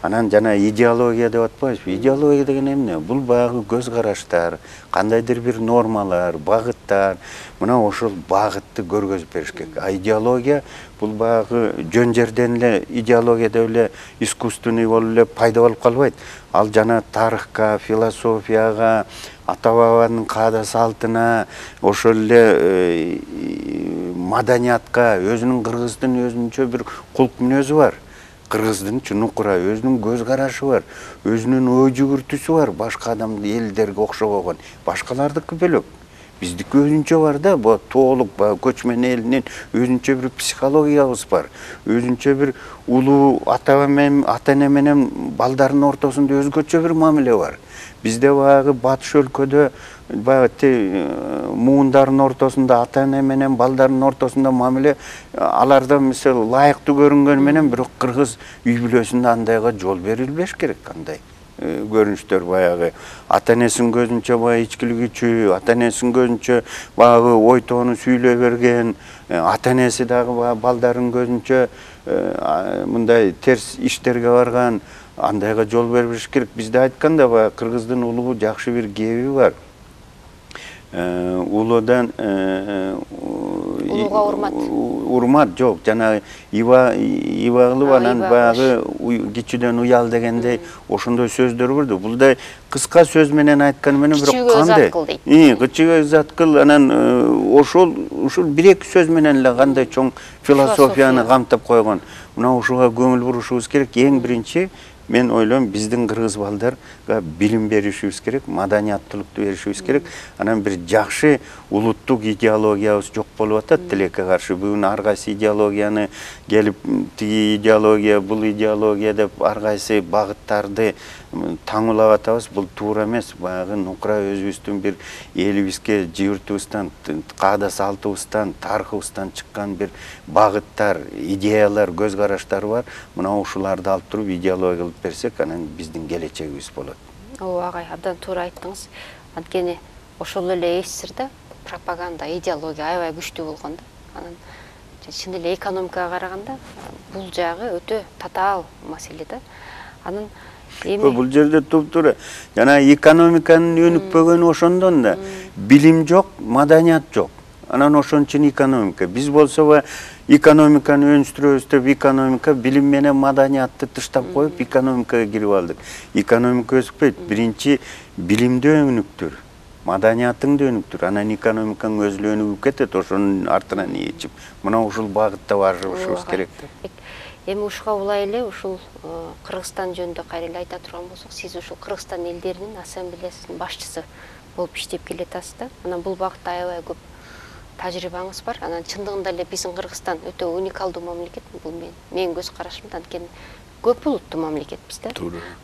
Анан жана идеология деп атпайбызбы? Идеология деген эмне? Бул багы көз караштар, кандайдыр бир нормалар, багыттар. Мына ошол багытты көргөзүп бериш керек. А идеология бул багы жөн жерден эле идеология деп эле искусственный болуп эле пайда болуп калбайт. Ал жана тарыхка, философияга, ата бабанын каада салтына, ошол эле маданиятка, өзүнүн кыргыздын өзүнчө бир кулк мүнөзү бар. Кыргыздын чунукура өзүнүн көз карашы бар, өзүнүн ой жүгүртүүсү бар, башка адам элдерге окшобогон. Башкалардыкы бөлөк. Биздики өзүнчө бар да, бу тоолук көчмөн элинин өзүнчө бир психологиябыз бар. Өзүнчө бир улуу ата менен ата-эне менен балдардын ортосунда өзгөчө бир мамиле бар. Бизде багы батыш өлкөдө багы муундардын ортосунда ата-эне менен балдардын ортосунда мамиле аларда мисалы лайыктуу көрүнгөнү менен бирок кыргыз үй бүлөсүндө андайга жол берилбеш керек. Кандай көрүнүштөр баягы ата-энесинин көзүнчө баягы ичкилик үчүү, ата-энесинин көзүнчө баягы ой тоону сүйлөй берген, ата-энеси дагы балдардын көзүнчө мындай терс иштерге барган, андайга жол бербеш керек. Бизде айтканда баягы кыргыздын улуу жакшы бир кеби бар. Улуудан улууга урмат. Урмат жок, жана иба кылып анан баягы кичүүдөн уял дегендей ошондой сөздөр бар да. Булдай кыска сөз менен айтканы менен бирок кандай? Кычыгы зат кыл, анан ошол ушул бир-эки сөз менен эле кандай чоң философияны камтып койгон. Мына ушуга көңүл бурушубуз керек. Эң биринчи мен ойлойм биздин кыргыз балдарга билим беришибиз керек, маданияттуулукту беришибиз керек. Анан бир жакшы улуттук идеологиябыз жок болуп атат тилекке каршы. Бүгүн ар кайсы идеологияны келип тиги идеология, бул идеология деп ар кайсы багыттарды таңулап атабыз. Бул туура эмес. Баягы нукура өзүбүздүн бир элибизге, жибиртибизден, каада салтыбыздан, тарыхыбыздан чыккан бир багыттар, идеялар, көз караштар бар. Мына ушуларды алып туруп идеология кылып берсек, анан биздин келечегибиз болот. Ооба агай, абдан туура айттыңыз. Анткени ошол эле СССРда пропаганда, идеология аябай күчтүү болгон да. Анан чын эле экономикага караганда бул жагы өтө татаал маселе да. Анан эми бул жерде туп-туура жана экономиканын өнүкпөгөнү ошондон да. Билим жок, маданият жок. Анан ошон үчүн экономика. Биз болсо экономиканы өнүстүрөбүз деп экономика, билим менен маданиятты тыштап коюп экономикага кирип алдык. Экономика өспөйт. Биринчи билимди өнүктүр. маданиятың да өнүктүр, анан экономикаң өзү өнүгүп кетет, ошонун артынан ичип. Мына ушул багытта барышыбыз керек да. Эми ушуга улай эле ушул Кыргызстан жөнүндө кайра эле айта турган болсок, сиз ушул Кыргызстан элдеринин ассамблеясынын башчысы болуп иштеп келатасыз да. Анан бул багытта аябай көп тажрыйбаңыз бар. Анан чындыгында эле биздин Кыргызстан өтө уникалдуу мамлекет. Бул мен менин көз карашымда, анткени көп улуттуу мамлекетпиз да.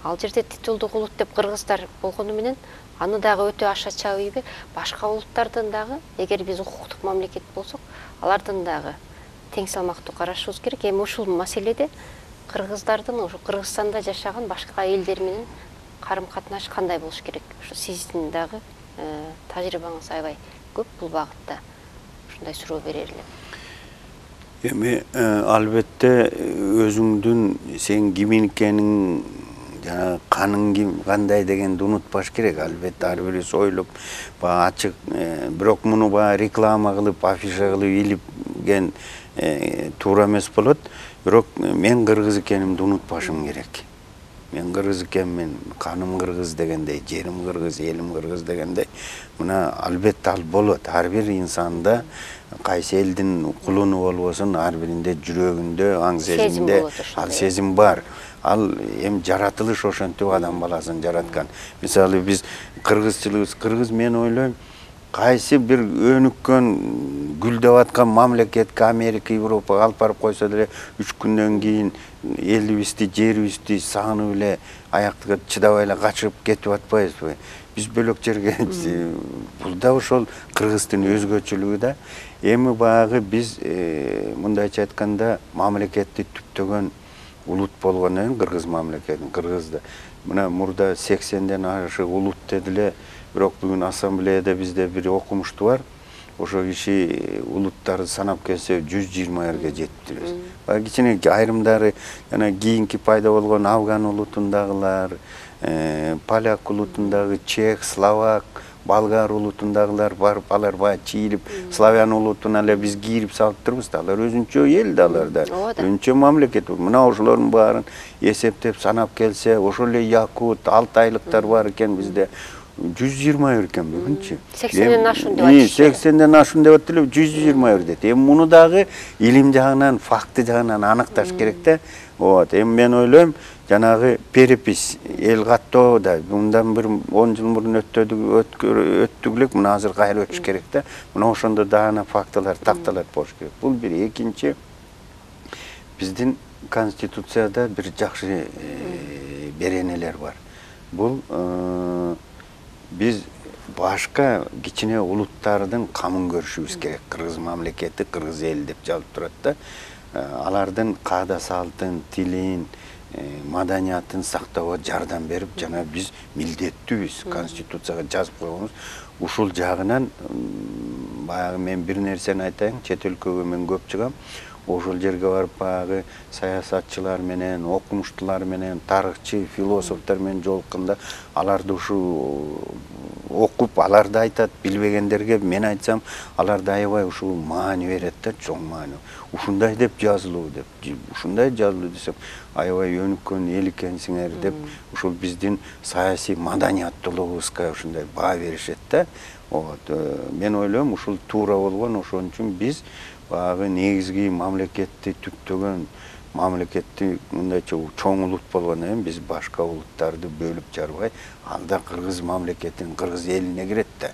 Ал жерде титулдук улут деп кыргыздар болгону менен аны дагы өтө аша чабыйбы, башка улуттардын дагы, эгер биз укуктук мамлекет болсок, алардын дагы тең салмактуу карашыбыз керек. Эми ушул маселеде кыргыздардын ушу Кыргызстанда жашаган башка элдер менен карым-катнаш кандай болуш керек? Ушу сиздин дагы тажрыйбаңыз аябай көп бул багытта. Ушундай суроо берер элем. Эми албетте өзүңдүн сен ким экениң, жана каның ким, кандай дегенди унутпаш керек. Албетте ар бирибиз ойлоп, баягы ачык, бирок муну баягы реклама кылып, афиша кылып илипген туура эмес болот. Бирок мен кыргыз экенимди унутпашым керек. Мен кыргыз экенмин, каным кыргыз дегендей, жерим кыргыз, элим кыргыз дегендей. Мына албетте ал болот. Ар бир инсанда кайсы элдин кулуну болбосун, ар биринде жүрөгүндө, аң сезиминде ал сезим бар. Ал эми жаратылыш ошентип адам баласын жараткан. Мисалы биз кыргызчылыгыбыз, кыргыз мен ойлойм, кайсы бир өнүккөн, гүлдөп аткан мамлекетке, Америка, Европага алып барып койсо деле үч күндөн кийин элибизди, жерибизди сагынып эле аяктыга чыдабай эле качып кетип атпайбызбы? Биз бөлөк жерге, бул да ошол кыргыздын өзгөчөлүгү да. Эми баягы биз мындайча айтканда мамлекетти түптөгөн улут болгондон кийин кыргыз мамлекетин, кыргызды мына мурда сексенден ашык улут дедиле, бирок бүгүн ассамблеяда бизде бир окумушту бар. Ошо киши улуттарды санап келсе жүз жыйырма эрге жетиптирбиз. Баягы кичине айрымдары жана кийинки пайда болгон афган улутундагылар, поляк улутундагы, чех, словак, болгар улутундагылар барып, алар баягы чийилип, славян улутуна эле биз кийирип салып турбуз да. Алар өзүнчө эл да, аларда өзүнчө мамлекет. Мына ошолордун баарын эсептеп санап келсе, ошол эле якут, алтайлыктар бар экен бизде. жүз жыйырма бир экен бүгүнчү. сексенден ашуун деп атышты. сексенден ашуун деп атты эле, жүз жыйырма бир дейт. Эми муну дагы илим жагынан, факты жагынан аныкташ керек да. Вот, эми мен ойлойм, жанагы перепись, эл каттоо да мындан бир он жыл мурун өттүк элек, мына азыр кайра өтүш керек да. Мына ошондо дагы фактылар, такталар болуш керек. Бул бир. Экинчи, биздин конституцияда бир жакшы беренелер бар. Бул биз башка кичине улуттардын камын көрүшүбүз керек. Кыргыз мамлекети, кыргыз эл деп жазылып турат да. Алардын каада салтын, тилин, маданиятын сактоого жардам берип, жана биз милдеттүүбүз. Конституцияга жазып койгонбуз. Ушул жагынан баягы мен бир нерсени айтайын, чет өлкөгө мен көп чыгам. Ошол жерге барып баягы саясатчылар менен, окумуштуулар менен, тарыхчы, философтор менен жолукканда, аларды ушу окуп, аларды айтат, билбегендерге мен айтсам, аларды аябай ушул маани берет да, чоң маани. Ушундай деп жазылуу деп, ушундай жазылуу десем, аябай өнүккөн эл экенсиңер деп, ушул биздин саясий маданияттуулугубузга ушундай баа беришет да. Вот, мен ойлойм, ушул туура болгон, ошон үчүн биз баягы негизги мамлекетти түптөгөн мамлекетти мындайча чоң улут болгондон кийин биз башка улуттарды бөлүп жарбай, алда кыргыз мамлекетин, кыргыз элине кирет да.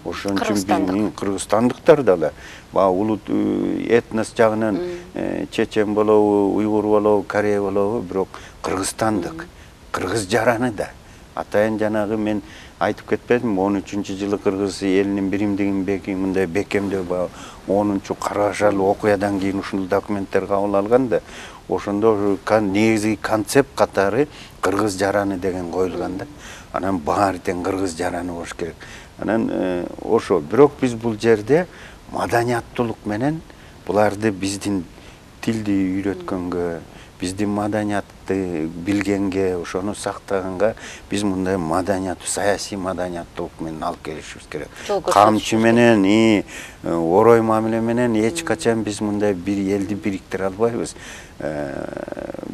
Ошон үчүн биздин кыргызстандыктар дагы баягы улут этнос жагынан чечен болобу, уйгур болобу, корей болобу, бирок кыргызстандык, кыргыз жараны да. Атайын жанагы мен айтып кетпедим, он үчүнчү жылы кыргыз элинин биримдигин бекем мындай бекемдөө баягы онунчу карашал окуядан кийин ушул документтер кабыл алган да. Ошондо негизги концепт катары кыргыз жараны деген коюлган да. Анан баары тең кыргыз жараны болуш керек. Анан ошо, бирок биз бул жерде маданияттуулук менен буларды биздин тилди үйрөткөнгө, биздин маданиятты билгенге, ошону сактаганга биз мындай маданияттуу, саясий маданияттуулук менен алып келишибиз керек. Камчы менен, орой мамиле менен эч качан биз мындай бир элди бириктире албайбыз.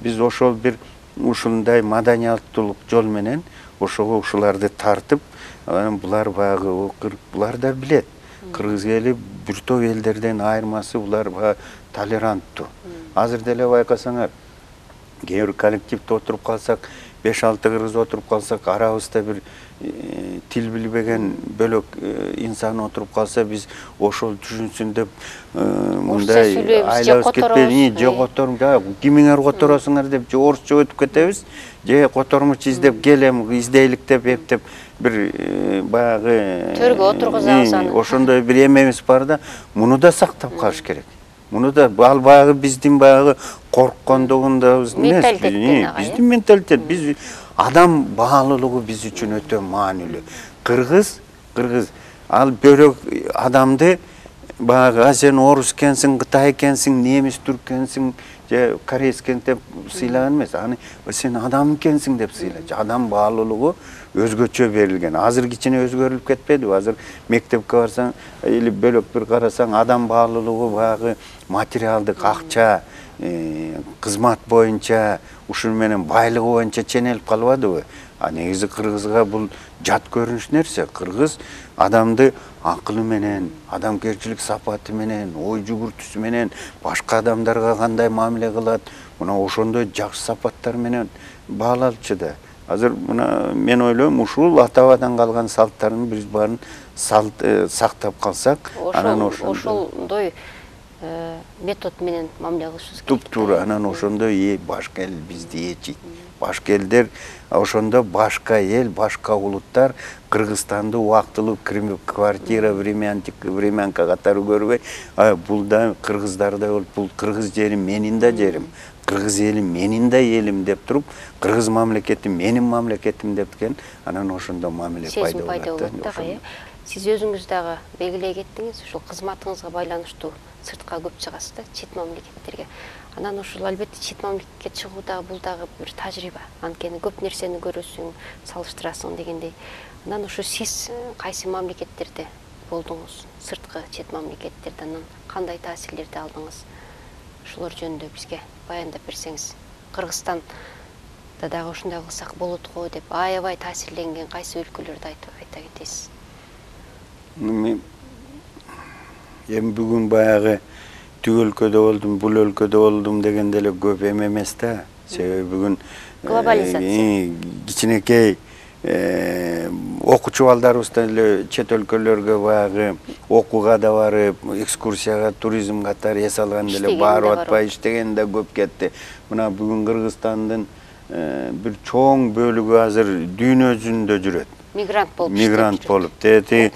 Биз ошол бир ушундай маданияттуулук жол менен ошого ушуларды тартып, булар багы булар да билет. Кыргыз эли бир топ элдерден айырмасы булар толеранттуу. Азыр деле байкасаңар, кээ бир коллективде отуруп калсак, беш алты кыргыз отуруп калсак, арабызда бир тил билбеген бөлөк инсан отуруп калса, биз ошол түшүнсүн деп мындай айлабыз кетпей, же которум, кимиңер которосуңар деп, же орусча өтүп кетебиз, же котормуч издеп келем, издейлик деп эптеп бир баягы төргө отургузабыз аны. Ошондой бир эмебиз бар да, муну да сактап калыш керек. Муну да ал баягы биздин баягы корккондугунда эмес, биздин менталитет, биз адам баалуулугу биз үчүн өтө маанилүү. Кыргыз, кыргыз ал бөлөк адамды баягы сен орус экенсиң, кытай экенсиң, немис түркенсиң, же корейс экен деп сыйлаган эмес. Аны сен адам экенсиң деп сыйлайт. Адам баалуулугу өзгөчө берилген. Азыр кичине өзгөрүлүп кетпедиби? Азыр мектепке барсаң, или бөлөк бир карасаң, адам баалуулугу баягы материалдык, акча, кызмат боюнча, ушун менен байлыгы боюнча ченелип калбадыбы? А негизи кыргызга бул жат көрүнүш нерсе. Кыргыз адамды акылы менен, адамгерчилик сапаты менен, ой жүгүртүүсү менен, башка адамдарга кандай мамиле кылат, мына ошондой жакшы сапаттар менен баалалчу да. Азыр мына мен ойлойм, ушул ата-бабадан калган салттардын биз баарын сактап калсак, анан ошондой метод менен мамиле кылышыбыз керек. Туп-туура, анан ошондой башка эл бизди ээчийт. Башка элдер ошондо башка эл, башка улуттар Кыргызстанды убактылуу квартира, времянка катары көрбөй, бул да кыргыздардай болуп, бул кыргыз жерим менин да жерим, кыргыз элим менин да элим деп туруп, кыргыз мамлекети менин мамлекетим депкен, анан ошондо мамиле пайда болот. Сиз өзүңүз дагы белгилей кеттиңиз, ушул кызматыңызга байланыштуу сыртка көп чыгасыз да, чет мамлекеттерге. Анан ушул албетте чет мамлекетке чыгуу дагы бул дагы бир тажрыйба. Анткени көп нерсени көрөсүң, салыштырасың дегендей. Анан ушу сиз кайсы мамлекеттерде болдуңуз? Сырткы чет мамлекеттерде анан кандай таасирлерди алдыңыз? Ушулар жөнүндө бизге баяндап берсеңиз. Кыргызстанда дагы ушундай кылсак болот го деп аябай таасирленген кайсы өлкөлөрдү айта кетесиз? Эми бүгүн баягы түү өлкөдө болдум, бул өлкөдө болдум дегенде эле көп эме эмес да. Себеби бүгүн глобализация. Кичинекей окуучу балдарыбыз деле чет өлкөлөргө баягы окууга да барып, экскурсияга, туризм катары эс алган деле барып атпай иштеген да көп кетти. Мына бүгүн Кыргызстандын бир чоң бөлүгү азыр дүйнө жүзүндө жүрөт. Мигрант болуп Мигрант болуп. Тети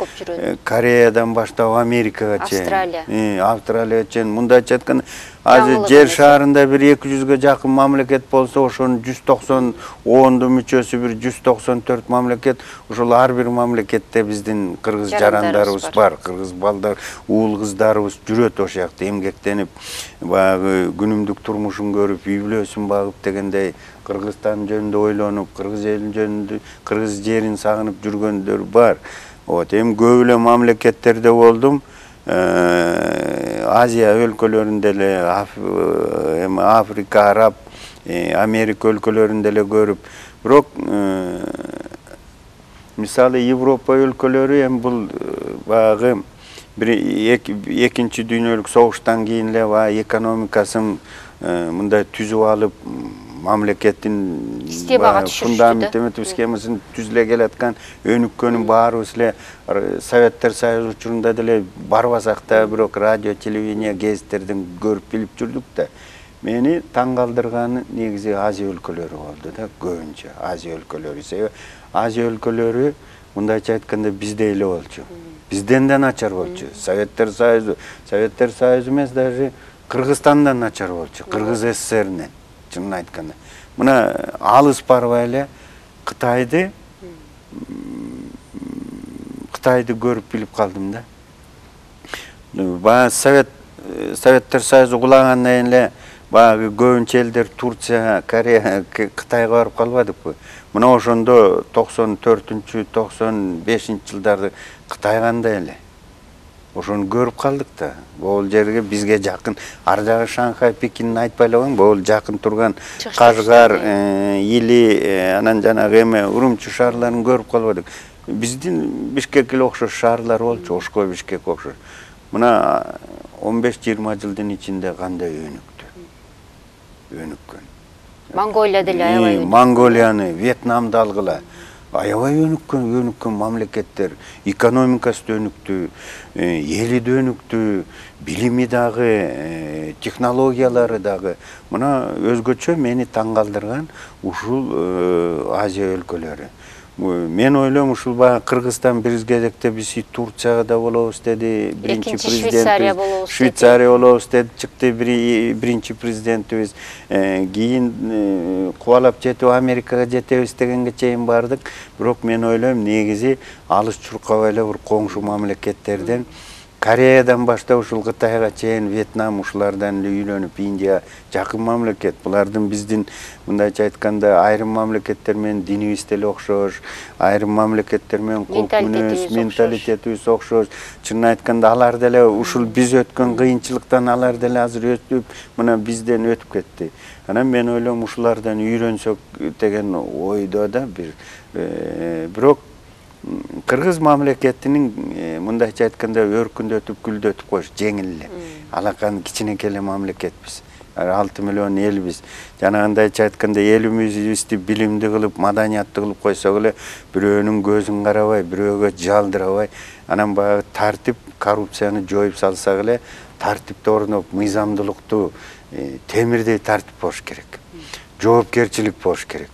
Кореядан баштап Америкага чейин. Австралия. Австралияга чейин. Мындайча айтканда, азыр жер шаарында бир эки жүзгө жакын мамлекет болсо, ошонун жүз токсон оонду мүчөсү бир жүз токсон төрт мамлекет. Ошол ар бир мамлекетте биздин кыргыз жарандарыбыз бар. Кыргыз балдар, уул кыздарыбыз жүрөт ошол жакта эмгектенип, баягы күнүмдүк турмушун көрүп, үй бүлөсүн багып дегендей Кыргызстан жөнүндө ойлонуп, кыргыз элин жөнүндө, кыргыз жерин сагынып жүргөндөр бар. Вот, эми көп эле мамлекеттерде болдум. Азия өлкөлөрүндө эле, эми Африка, Араб, Америка өлкөлөрүндө эле көрүп, бирок мисалы Европа өлкөлөрү эми бул баягы бир экинчи дүйнөлүк согуштан кийин эле баягы экономикасын мындай түзүп алып, мамлекеттин фундамент схемасын түзүлө келаткан өнүккөнүн баарыбыз эле Советтер Союзу учурунда деле барбасак да, бирок радио, телевидение, гезиттерден көрүп билип жүрдүк да. Мени таң калтырганы негизи Азия өлкөлөрү болду да, көбүнчө Азия өлкөлөрү. Себеби Азия өлкөлөрү мындайча айтканда биздей эле болчу. Бизден да начар болчу. Советтер Союзу, Советтер Союзу эмес, даже Кыргызстандан начар болчу, Кыргыз СССРинен. Чынын айтканда. Мына алыс барбай эле Кытайды Кытайды көрүп билип калдым да. Баягы Совет Советтер Союзу кулагандан кийин эле баягы көбүнчө элдер Турция, Корея, Кытайга барып калбадыкпы? Мына ошондо токсон төртүнчү, токсон бешинчи жылдарды Кытай кандай эле? ошону көрүп калдык да. Бул жерге бизге жакын, ар жагы Шанхай, Пекинди айтпай эле коеюн, бул жакын турган Кашгар, Или, анан жанагы эме Урумчи шаарларын көрүп калбадык. Биздин Бишкек эле окшош шаарлар болчу, Ошко, Бишкек окшош. Мына он беш жыйырма жылдын ичинде кандай өнүктү. Өнүккөн. Монголия деле аябай өнүктү. Монголияны, Вьетнамды алгыла. Аябай өнүккөн, өнүккөн мамлекеттер, экономикасы да өнүктү, эли да өнүктү, билими дагы, технологиялары дагы. Мына өзгөчө мени таң калтырган ушул Азия өлкөлөрү. Мен ойлойм, ушул баягы Кыргызстан бир кезекте биз Турцияга да болобуз деди, биринчи президент. Швейцария болобуз деди, чыкты биринчи президентибиз. Кийин кубалап жетип Америкага жетебиз дегенге чейин бардык. Бирок мен ойлойм, негизи алыс чуркабай эле бир коңшу мамлекеттерден, Кореядан баштап ушул Кытайга чейин, Вьетнам ушулардан үйлөнүп, Индия жакын мамлекет. Булардын биздин мындайча айтканда айрым мамлекеттер менен динибиз деле окшош, айрым мамлекеттер менен кулк мүнөз, менталитетибиз окшош. Чынын айтканда алар деле ушул биз өткөн кыйынчылыктан алар деле азыр өтүп, мына бизден өтүп кетти. Анан мен ойлойм, ушулардан үйрөнсөк деген ойдо да бир. Бирок Кыргыз мамлекетинин мындайча айтканда өркүндөтүп, гүлдөтүп коюш жеңил эле. Алакан кичинекей эле мамлекетпиз. алты миллион элбиз. Жанагындайча айтканда элибизди билимди кылып, маданияттуу кылып койсок эле, бирөөнүн көзүн карабай, бирөөгө жалдырабай, анан баягы тартип, коррупцияны жоюп салсак эле, тартипти орноп, мыйзамдуулукту, темирдей тартип болуш керек. Жоопкерчилик болуш керек.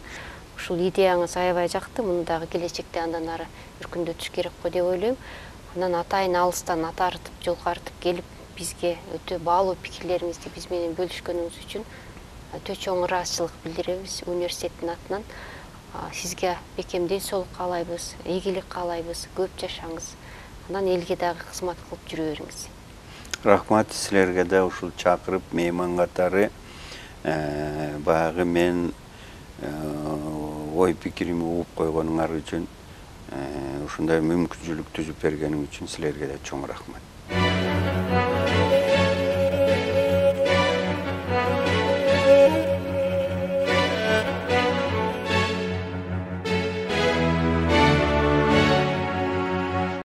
Ушул идеяңыз аябай жакты, муну дагы келечекте андан ары өркүндөтүш керек го деп ойлойм. Анан атайын алыстан ат арытып, жолго арытып келип, бизге өтө баалуу пикирлериңизди биз менен бөлүшкөнүңүз үчүн өтө чоң ыраазычылык билдиребиз университеттин атынан. Сизге бекем ден соолук каалайбыз, ийгилик каалайбыз, көп жашаңыз. Анан элге дагы кызмат кылып жүрө бериңиз. Рахмат силерге да ушул чакырып, мейман катары баягы мен ой пикирими угуп койгонуңар үчүн, ушундай мүмкүнчүлүк түзүп бергениң үчүн силерге да чоң рахмат.